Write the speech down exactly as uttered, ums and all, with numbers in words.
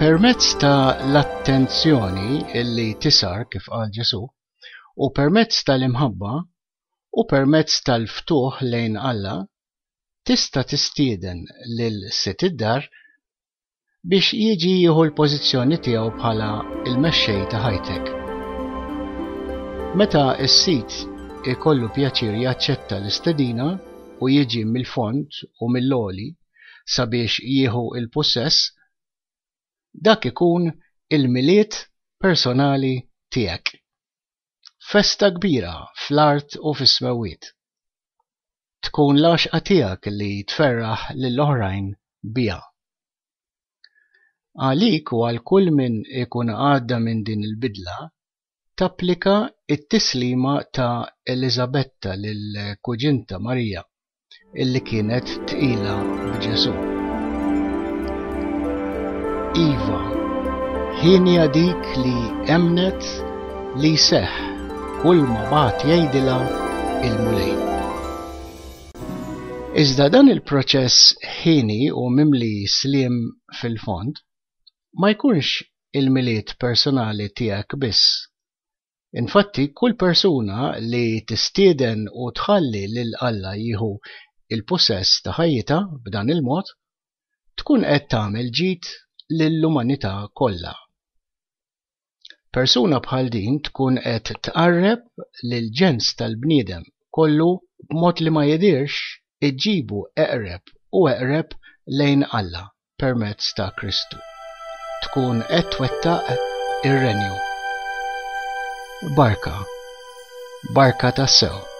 Permezz ta' l-attenzjoni illi tisar kif qal Ġesù, u permezz tal-imħabba, u permezz tal-ftuħ lejn Alla, tista' tistieden lil sid id-dar biex jiġi jieħu l-pożizzjoni tiegħu bħala l-mexxej ta' ħajtek. Meta s-sid ikollu pjaċir jaċċetta l-istedina u jiġi mill-fond u mill-għoli sabiex jieħu l-pussess, dak ikun il-Milied personali tiegħek. Festa kbira fl-art u fis-smewwiet. Tkun l-għaxqa tiegħek li tferraħ lill-oħrajn biha. Għalik u għal kull min ikun għadda minn din il-bidla, tapplika t-tislima ta' Eliżabetta lil kuġinta Marija, illi kienet tqila b'Ġesù. Iva, hienja dik li emmnet li jseħħ kull ma bagħat jgħidilha il-Mulej. Iżda dan il-proċess ħieni u mimli sliem fil-fond ma jkunx il-Milied personali tiegħek biss. Infatti, kull persuna li tistieden u tħalli lil Alla jieħu il-pussess ta' ħajjitha b'dan il-mod, tkun qed tagħmel ġid lill-umanità kollha. Persuna bħal din tkun qed tqarreb lill-ġens tal-bniedem kollu b'mod li ma jidhirx iġġibu eqreb u eqreb lejn Alla permezz ta' Kristu. Tkun qed twettaq ir-renju. Barka. Barka tassew.